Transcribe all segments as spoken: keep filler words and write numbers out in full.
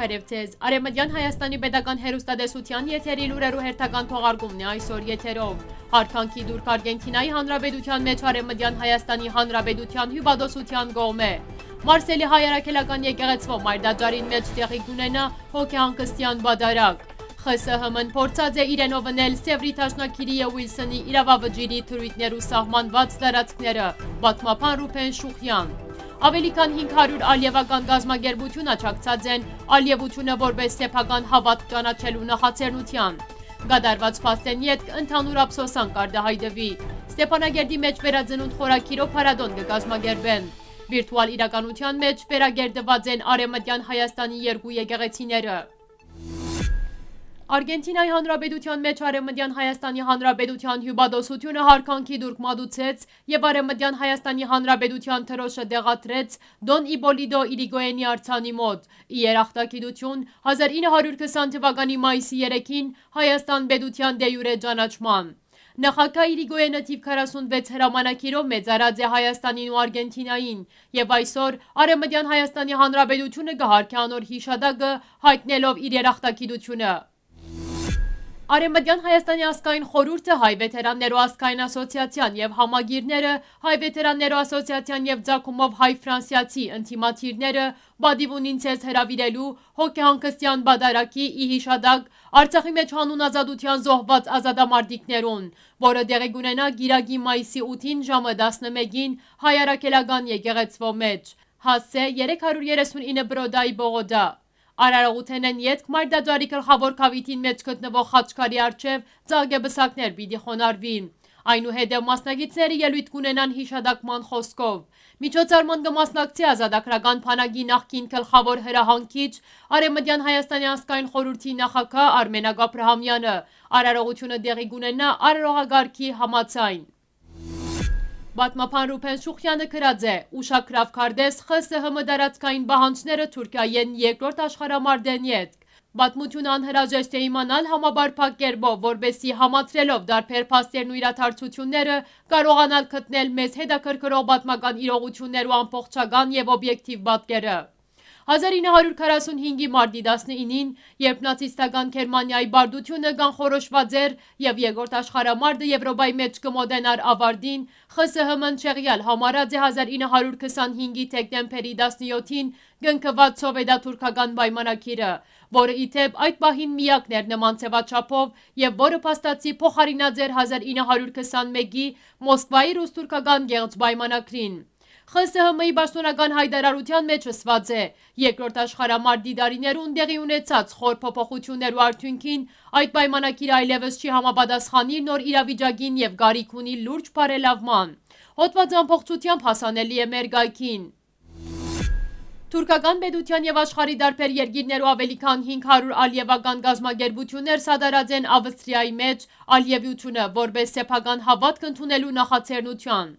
Բարեւ ձեզ։ Արեւմտեան Հայաստանի պետական հեռուստատեսութեան եթերի լուրերու հերթական թողարկումն է այսօր եթերով։ Յարգանքի տուրք Արգենթինայի Հանրապետութեան մէջ Արեւմտեան Հայաստանի Հանրապետութեան հիւպատոսութեան կողմէ։ Մարսելի հայ առաքելական եկեղեցւոյ մայր տաճարին մէջ տեղի կունենայ հոգեհանգստեան պատարագ։ Խ Ս Հ Մ-ն փորձած է իրենով ընել Սեւրի դաշնագիրի եւ Ուիլսոնի իրավավճիրի դրոյթներու սահմանուած տարածքները, պատմաբան Ռուբեն Շուխեան։ Աւելի քան հինգ հարիւր ալիեւական կազմակերպութիւն աջակցած են ալիեւութիւնը որպէս սեփական հաւատք ճանաչելու նախաձեռնութեան։ Կատարուած փաստէն ետք ընդհանուր ափսոսանք արտայայտուի։ Ստեփանակերտի մէջ վերածնունդ խորագիրով փառատօն կը կազմակերպեն։ Վիրտուալ իրականութեան մէջ վերակերտուած են Արեւմտեան Հայաստանի երկու եկեղեցիները։ Արգենթինայի Հանրապետութեան մէջ Արեւմտեան Հայաստանի Հանրապետութեան հիւպատոսութիւնը յարգանքի տուրք մատուցեց եւ Արեւմտեան Հայաստանի Հանրապետութեան դրօշը տեղադրեց Դոն Իպոլիտո Իրիգոյենի արձանի մօտ, ի երախտագիտութիւն հազար ինը հարիւր քսան թուականի մայիսի երեքին Հայաստան պետութեան դե իուրե ճանաչման։ Նախագահ Իրիգոյենը թիւ քառասունվեց հրամանագիրով մեծարած է Հայաստանին ու Արգենթինային, եւ այսօր Արեւմտեան Հայաստանի Հանրապետութիւնը կը յարգէ անոր յիշատակը, յայտնելով իր երախտագիտութիւնը։ Արեւմտեան Հայաստանի ազգային խորհուրդը, Հայ վեթերաններու ազգային ասոցիացիան եւ համակիրները, Հայ վեթերաններու ասոցիացիան եւ Ձագումով հայ-ֆրանսիացի ընդդիմադիրները պատիւ ունին ձեզ հրաւիրելու հոգեհանգստեան պատարագի, ի յիշատակ Արցախի մէջ յանուն ազատութեան զոհուած ազատամարտիկներուն, որը տեղի կունենայ կիրակի, մայիսի ութին ժամը տասնմէկին հայ առաքելական եկեղեցւոյ մէջ, Հասցէ երեք հարիւր երեսուն ինը Բրոդայի պողոտայ։ Արարողութենէն ետք մայր տաճարի գլխաւոր գաւիթին մէջ գտնուող խաչքարի առջեւ ծաղկեբսակներ պիտի խոնարհուին։ Այնուհետեւ մասնակիցները ելոյթ կունենան յիշատակման խօսքով։ Միջոցառման կը մասնակցի ազատագրական բանակի նախկին գլխաւոր հրահանգիչ, Արեւմտեան Հայաստանի ազգային խորհուրդի նախագահ Արմենակ Աբրահամեանը։ Արարողութիւնը տեղի կունենայ արարողակարգի համաձայն։ Պատմաբան Ռուբեն Շուխեանը գրած է. «Ուշագրաւ քարտէս Խ Ս Հ Մ տարածքային պահանջները Թուրքիայէն երկրորդ աշխարհամարտէն ետք։ Պատմութիւնը անհրաժեշտ է իմանալ համապարփակ կերպով, որպէսզի համադրելով տարբեր փաստերն ու իրադարձութիւնները՝ կարողանալ գտնել մեզ հետաքրքրող պատմական իրողութիւններու ամբողջական եւ օբյեկտիվ պատկերը»։ Հազար ինը հարիւր քառասուն հինգի մարտի տասնինին, երբ նացիստական Գերմանիայի պարտութիւնը կանխորոշուած էր եւ երկրորդ աշխարհամարտը Եւրոպայի մէջ կը մօտենար աւարտին, Խ Ս Հ Մ-ն չեղեալ համարած է հազար ինը հարիւր քսանհինգի դեկտեմբերի տասնյոթին կնքուած սովետա-թուրքական պայմանագիրը, որը, ի դէպ, այդ պահին միակն էր նման ձեւաչափով եւ որը փաստացի փոխարինած էր հազար ինը հարիւր քսանմէկի Մոսկվայի ռուս-թուրքական կեղծ պայմանագրին։ Խ Ս Հ Մ-ի պաշտօնական յայտարարութեան մէջ ըսուած է. «Երկրորդ աշխարհամարտի տարիներուն տեղի ունեցած խոր փոփոխութիւններու արդիւնքին այդ պայմանագիրը այլեւս չի համապատասխանի նոր իրավիճակին եւ կարիք ունի լուրջ բարելաւման։ Հոդվածը ամբողջութեամբ հասանելի է մեր կայքին»։ Թուրքական պետութեան եւ աշխարհի տարբեր երկիրներու աւելի քան հինգ հարիւր ալիեւական կազմակերպութիւններ սատարած են Ավստրիայի մէջ ալիեւութիւնը որպէս սեփական հաւատք ընդունելու նախաձեռնութեան։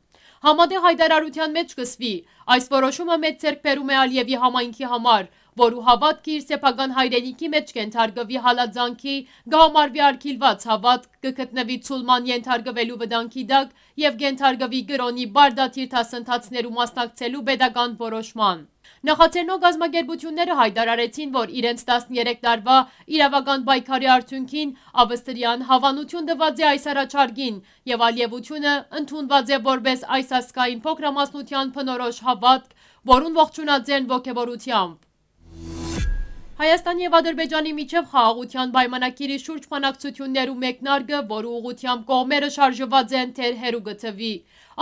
Համատեղ յայտարարութեան մէջ կ'ըսուի. «Այս որոշումը մեծ ձեռքբերում է Ալիեւի համայնքի համար, որու հաւատքը իր սեփական հայրենիքի մէջ կ'ենթարկուի հալածանքի, կը համարուի արգիլուած հաւատք, կը գտնուի ցուլման ենթարկուելու վտանգի տակ եւ կ'ենթարկուի կրօնի պարտադիր դասընթացներու մասնակցելու պետական որոշման»։ Նախաձեռնող կազմակերպութիւնները յայտարարեցին, որ իրենց տասներեք տարուայ իրաւական պայքարի արդիւնքին Ավստրիան հաւանութիւն տուած է այս առաջարկին եւ ալիեւութիւնը ընդունուած է որպէս այս ազգային փոքրամասնութեան բնորոշ հաւատք, որուն ողջունած են ոգեւորութեամբ։ Հայաստանի եւ Ադրբեջանի միջեւ խաղաղութեան պայմանագիրի շուրջ բանակցութիւններու մեկնարկը, որու ուղղութեամբ կողմերը շարժուած են, դեռ հեռու կը թուի։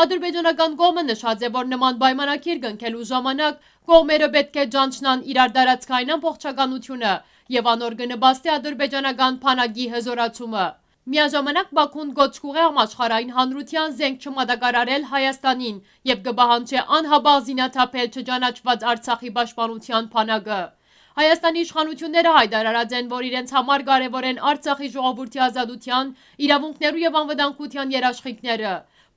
Ադրբեջանական կողմը նշած է, որ նման պայմանագիր կնքելու ժամանակ կողմերը պէտք է ճանչնան իրար տարածքային ամբողջականութիւնը եւ անոր կը նպաստի ադրբեջանական բանակի հզօրացումը։ Միաժամանակ Բաքուն կոչ կ'ուղղէ համաշխարհային հանրութեան զենք չմատակարարել Հայաստանին եւ կը պահանջէ անհապաղ զինաթափել չճանաչուած Արցախի պաշտպանութեան բանակը։ Հայաստանի իշխանութիւնները յայտարարած են, որ իրենց համար կարեւոր են Արցախի ժողովուրդի ազատութեան, իրաւունքներու եւ անվտանգութեան երաշխիքները,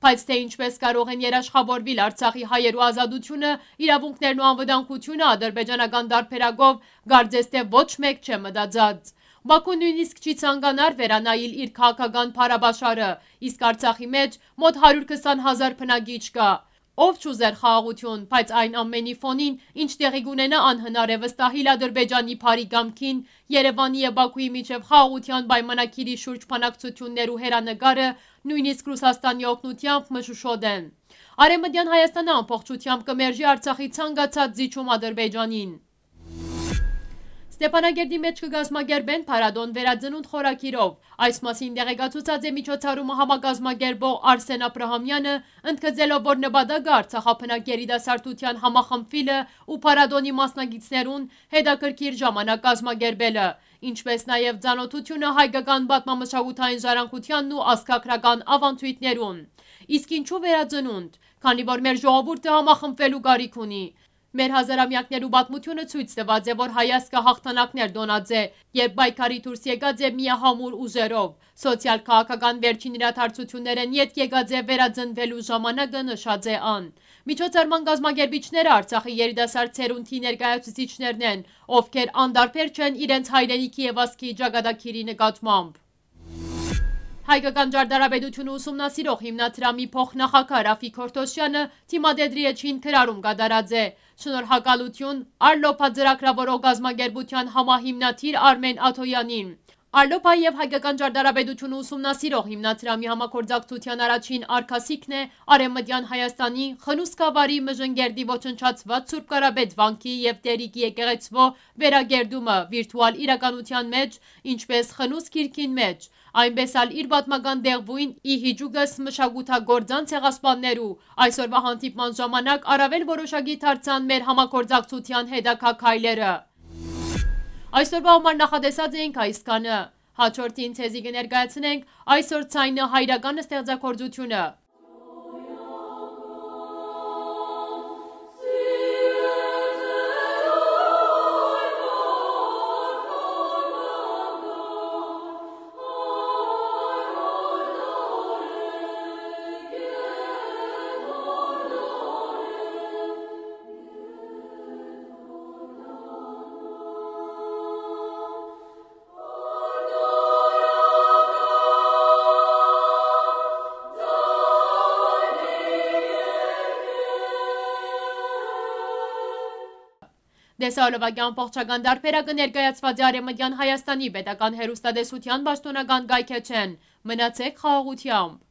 բայց թէ ինչպէս կարող են երաշխաւորուիլ Արցախի հայերու ազատութիւնը, իրաւունքներն ու անվտանգութիւնը ադրբեջանական տարբերակով, կարծես թէ ոչ մէկ չէ մտածած։ Բաքուն նոյնիսկ չի ցանկանար վերանայիլ իր քաղաքական փառաբաշարը, իսկ Արցախի մէջ մօտ հարիւր քսան հազար բնակիչ կայ։ Ով չուզեր խաղաղութիւն, բայց այն ամենի ֆոնին, ինչ տեղի կունենայ, անհնար է վստահիլ Ադրբեջանի բարի կամքին, Երեւանի եւ Բաքուի միջեւ խաղաղութեան պայմանագիրի շուրջ բանակցութիւններու հեռանկարը, նոյնիսկ Ռուսաստանի օգնութեամբ, մշուշոտ են։ Արեւմտեան Հայաստանը ամբողջութեամբ կը մերժի Արցախի ցանկացած զիջում Ադրբեջանին։ Ստեփանակերտի մէջ կը կազմակերպեն փառատոն վերածնունդ խորագիրով։ Այս մասին տեղեկացուցած է միջոցառումը համակազմակերպող Արսեն Աբրահամեանը, ընդգծելով, որ նպատակը Արցախաբնակ երիտասարդութեան համախմբուիլը ու փառատոնի մասնակիցներուն հետաքրքիր ժամանակ կազմակերպելը, ինչպէս նաեւ ծանօթութիւնը հայկական պատմամշակութային ժառանգութեանն ու ազգագրական ավանդոյթներուն։ Իսկ ինչու վերածնունդ, քանի որ մեր ժողովուրդը համախմբուելու կարիք ունի։ Մեր հազարամեակներու պատմութիւնը ցոյց տուած է, որ հայ ազգը յաղթանակներ տոնած է, երբ պայքարի դուրս եկած է միահամուռ ուժերով։ Սոցիալ-քաղաքական վերջին իրադարձութիւններէն ետք եկած է վերածնուելու ժամանակը, նշած է ան։ Միջոցառման կազմակերպիչները Արցախի երիտասարդ սերունդի ներկայացուցիչներն են, ովքեր անտարբեր չեն իրենց հայրենիքի եւ ազգի ճակատագիրի նկատմամբ։ Հայկական ճարտարապետությունը ուսումնասիրող հիմնադրամի փոխնախագահ Ռաֆիկ Հորթոսյանը դիմադեդրի էջին գրառում կատարած է։ Շնորհակալութիւն Արլոփա ծրագրավորող կազմակերպութեան համահիմնադիր Արմեն Աթոյանին։ Արլոփա եւ Հայկական ճարտարապետությունը ուսումնասիրող հիմնադրամի համագործակցութեան առաջին արգասիքն է Արեւմտեան Հայաստանի Խնուսքավարի Մժնգերդի ոչնչացուած Սուրբ Կարապետ վանքի եւ Տերիկի եկեղեցւոյ վերակերտումը վիրտուալ իրականութեան մէջ, ինչպէս Խնուս գիրքին մէջ, այնպէս ալ իր պատմական տեղւոյն ի հիճուկս մշակութագործան ցեղասպաններու։ Այսօրուայ հանդիպման ժամանակ առաւել որոշակի դարձան մեր համագործակցութեան հետագայ քայլերը։ Այսօրուայ համար նախատեսած էինք այսքանը։ Հաջորդին ձեզի կը ներկայացնենք այսօր ձայնը հայրական ստեղծագործութիւնը։ Տեսահոլովակի ամբողջական տարբերակը ներկայացուած է Արեւմտեան Հայաստանի պետական հեռուստատեսութեան պաշտօնական կայքէջէն։ Մնացեք խաղաղութեամբ։